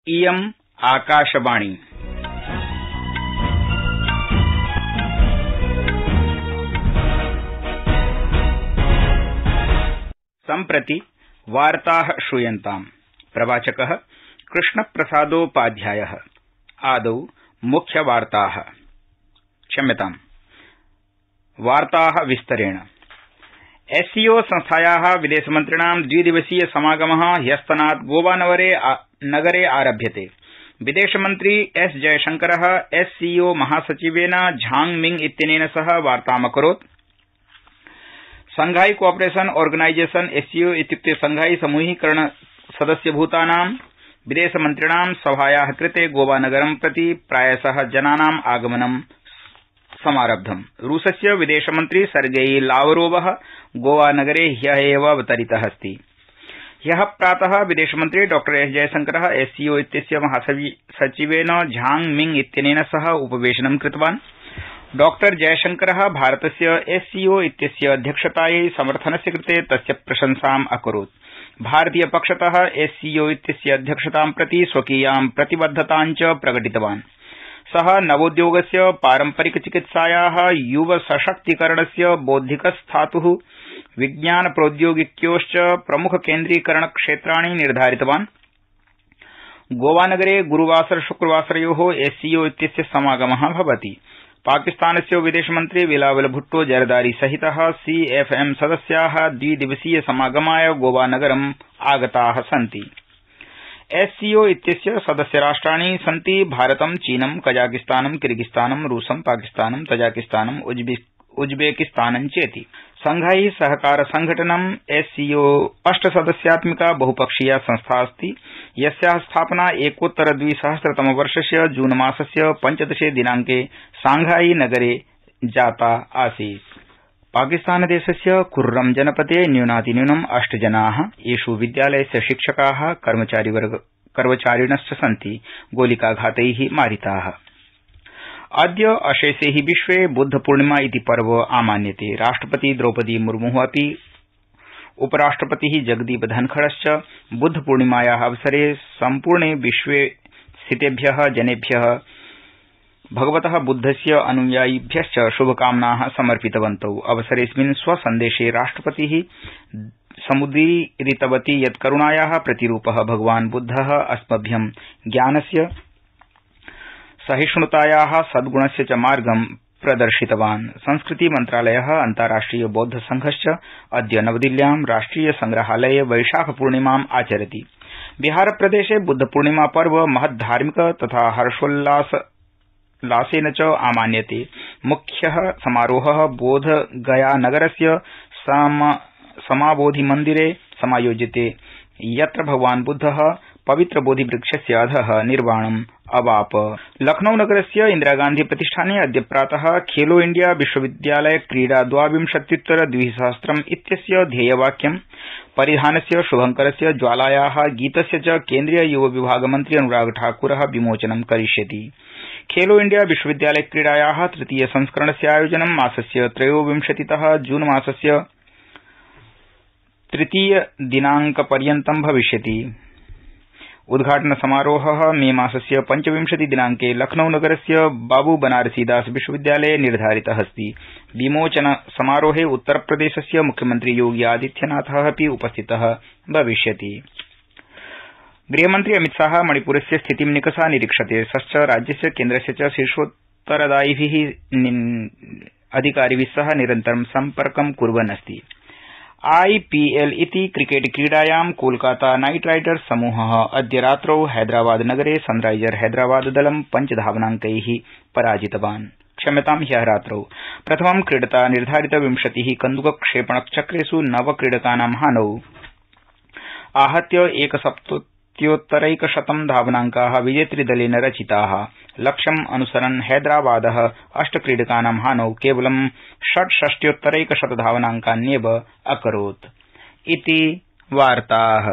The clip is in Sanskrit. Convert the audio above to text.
इयम् आकाशवाणी। सम्प्रति वार्ताः श्रूयन्ताम्। प्रवाचकः कृष्णप्रसादोपाध्यायः। आदौ मुख्यवार्ताः। वार्ताः विस्तरेण। एससीओ संस्थायाः विदेशमन्त्रिणां द्विदिवसीय समागमः ह्यस्तनात् गोवानगरे आरभ्यते। विदेशमन्त्री एस जयशंकरः एससीओ महासचिवेन झांग मिंग इत्यनेन सह वार्तामकरोत्। शंघाई कोऑपरेशन ऑर्गेनाइजेशन एससीओ इत्युक्ते शंघाई समूहीकरण सदस्यभूतानां विदेशमन्त्रिणां सभायाः कृते गोवानगरं प्रति प्रायशः जनानाम् आगमनं समारब्धम्। रूसस्य विदेशमन्त्री सर्गेई लावरोवः गोवानगरे ह्यः एव अवतरितः अस्ति। ह्यः प्रातः विदेशमन्त्री डॉ एस जयशंकरः एससीओ इत्यस्य महासचिवेन झांग मिंग इत्यनेन सह उपवेशनं कृतवान्। डॉ जयशंकरः भारतस्य एससीओ इत्यस्य अध्यक्षतायै समर्थनस्य कृते तस्य प्रशंसाम् अकरोत्। भारतीयपक्षतः एससीओ इत्यस्य अध्यक्षतां प्रति स्वकीयां प्रतिबद्धतां च प्रकटितवान्। सः नवोद्योगस्य पारम्परिकचिकित्सायाः युवसशक्तीकरणस्य बौद्धिकस्थातुः विज्ञानप्रौद्योगिक्योश्च प्रमुखकेन्द्रीकरणक्षेत्राणि निर्धारितवान्। गोवानगरे गुरूवासर शुक्रवासरयोः एससीओ इत्यस्य समागमः भवति। पाकिस्तानस्य विदेशमन्त्री बिलावल भुट्टो जरदारी सहितः सीएफएम सदस्याः द्विदिवसीय समागमाय गोवानगरम् आगताः सन्ति। एससीओ इत्यस्य सदस्यराष्ट्राणि सन्ति भारतं, चीनं, कजाकिस्तानं, किर्गिस्तानं, रूसं, पाकिस्तानं, तजाकिस्तानं, उज्बेकिस्तानं चेति। शंघाई सहकार संघटनं एससीओ 8 सदस्यात्मिका बहुपक्षीया संस्था अस्ति, यस्याः स्थापना एकोत्तर 2000तमवर्षस्य जून मासस्य 15 दिनांके शांघाई नगरे जाता आसीत्। पाकिस्तानदेशस्य कुर्रम जनपदे न्यूनातिन्यूनम् 8 जनाः, येष् विद्यालयस्य शिक्षकाः, कर्मचारिणश्च सन्ति गोलिकाघातैः मारिताः। अद्य अशेषे हि विश्वे बुद्धपूर्णिमा इति पर्व आमान्यते। राष्ट्रपति द्रौपदी मुर्मुः अपि उपराष्ट्रपतिः जगदीप धनखड़श्च बुद्धपूर्णिमायाः अवसरे सम्पूर्णे विश्वे स्थितेभ्यः जनेभ्यः भगवतः बुद्धस्य अनुयायिभ्यश्च शुभकामनाः समर्पितवन्तौ। अवसरेऽस्मिन् स्वसन्देशे राष्ट्रपतिः समुदीरितवती यत् करुणायाः प्रतिरूपः भगवान् बुद्धः अस्मभ्यं ज्ञानस्य, सहिष्णुतायाः, सद्गुणस्य च मार्गं प्रदर्शितवान्। संस्कृति मन्त्रालयः, अन्ताराष्ट्रिय बौद्ध संघश्च अद्य नवदिल्ल्यां राष्ट्रिय संग्रहालये वैशाखपूर्णिमाम् आचरति। बिहारप्रदेशे बुद्धपूर्णिमा पर्व महद्धार्मिक तथा हर्षोल्लासेन च आमान्यते। मुख्यः समारोहः बोधगयानगरस्य समाबोधिमन्दिरे समायोज्यते, यत्र भगवान् बुद्धः पवित्र बोधिवृक्षस्य अधः निर्वाणम् अवाप। लखनऊनगरस्य इन्दिरागान्धी प्रतिष्ठाने अद्य प्रातः खेलो इंडिया विश्वविद्यालय क्रीडा 2023 इत्यस्य ध्येयवाक्यं परिधानस्य, शुभंकरस्य, ज्वालायाः गीतस्य च केन्द्रीय युव विभाग मन्त्री अनुराग ठाकुरः विमोचनं करिष्यति। खेलो इंडिया विश्वविद्यालय क्रीडायाः तृतीय संस्करणस्य आयोजनं मासस्य 23तः जून मासस्य 3 दिनांकपर्यन्तं भविष्यति। उद्घाटन समारोहः मे मासस्य 25 दिनांके लखनऊनगरस्य बाबू बनारसीदास विश्वविद्यालये निर्धारितः अस्ति। विमोचन समारोहे उत्तरप्रदेशस्य मुख्यमन्त्री योगी आदित्यनाथः अपि उपस्थितः भविष्यति। गृहमन्त्री अमितशाह मणिपुरस्य स्थितिं निकषा निरीक्षते। सश्च राज्यस्य, केन्द्रस्य च शीर्षोत्तरदायिभिः अधिकारिभिः सह निरन्तरं सम्पर्कं कुर्वन् अस्ति। आईपीएल इति क्रिकेट क्रीडायां कोलकाता नाइट राइडर्स समूहः अद्य रात्रौ हैदराबाद नगरे सनराइजर हैदराबाद दलं 5 धावनांकैः पराजितवान्। ह्यः रात्रौ प्रथमं क्रीडता निर्धारित 20 कन्दुकक्षेपणचक्रेषु 9 क्रीडकानां हानौ आहत्य 170 धावनांकाः विजेतृदलेन रचिताः। लक्ष्यम् अनुसरन् हैदराबादः 8 क्रीडकानां हानौ केवलं 66 धावनांकान्येव अकरोत्। इति वार्ताः।